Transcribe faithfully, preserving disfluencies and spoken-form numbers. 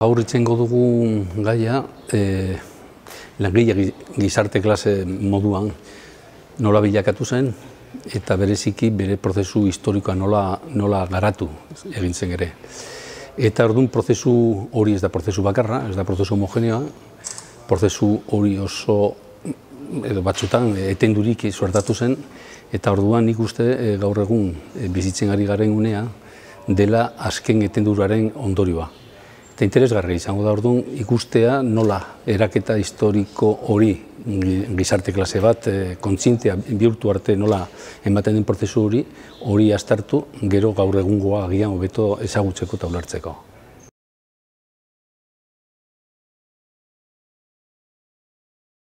Gaur itzengo dugu gaia, e, langile gizarte klase moduan nola bilakatu zen, eta bereziki bere prozesu historikoa nola, nola garatu egin zen ere. Eta orduan prozesu hori ez da prozesu bakarra, ez da prozesu homogeneoa, prozesu hori oso edo batzutan etendurik suertatu zen, eta orduan nik uste e, gaur egun e, bizitzen ari garen unea dela azken etenduraren ondorioa. Eta interesgarria izango da orduan ikustea nola eraketa historiko hori gizarte klase bat kontzientea bihurtu arte nola ematen den prozesu hori hori aztertu gero gaur egungoa agian hobeto ezagutzeko eta ulertzeko.